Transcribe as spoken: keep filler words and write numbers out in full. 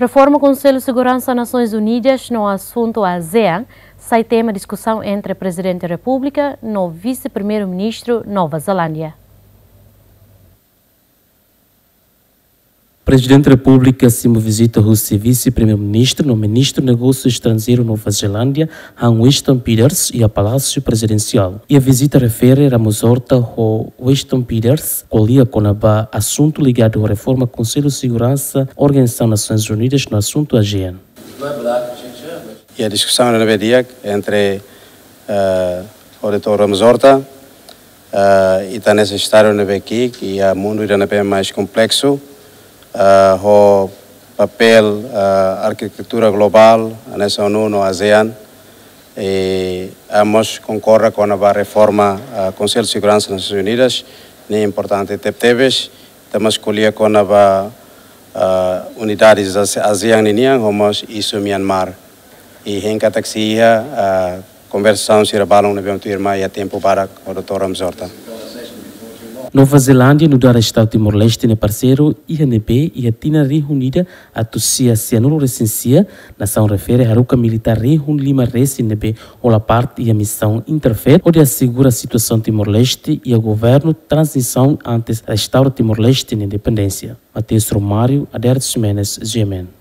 Reforma Konsellu Seguransa Nasoins Unidas no asuntu ASEAN sai tema diskusaun entre Prezidente Repúblika no Vise-Primeiru-Ministru Nova Zelándia. Prezidente Repúblika simu vizita husi Vise-Primeiru-Ministru no Ministru Negósiu Estranjeiru Nova Zelándia, Hans Winston Peters, iha Palásiu Prezidensiál. Iha vizita refere Ramos-Horta ho Winston Peters ko'alia kona-ba asuntu ligadu ho reforma Konsellu Seguransa Organizasaun Nasoins Unidas no asuntu ASEAN. Iha diskusaun ne'ebé di'ak entre, eh, ho Doutór Ramos-Horta, eh, ita hanesan estadu ne'ebé ki'ik iha mundu ida ne'ebé mais kompleksu, eh, ho papél, eh, arkitetura globál, hanesan ONU no ASEAN, i ha'u mós konkorda kona-ba reforma, eh, Konsellu Seguransa Nasoins Unidas, ne'e importante tebetebes, ita mós ko'alia kona-ba, eh, unidades ASEAN ninian, ho mós isu Myanmar. I hein katak sei iha, eh, konversasaun sira balun ne'ebé mak tuirmai iha tempu badak ho Doutór Ramos-Horta. Nova Zelándia nu'udar Estadu Timor-Leste nia parseiru iha ne'ebé iha tinan rihun ida atus sia sianulu resin sia, nasaun refere haruka militár rihun lima resin ne'ebé hola parte iha misaun INTERFET hodi asegura situasaun Timor-Leste iha governu tranzisaun antes restaura Timor-Leste nia independénsia. Mateus Romário, Adérito Ximenes, GMN.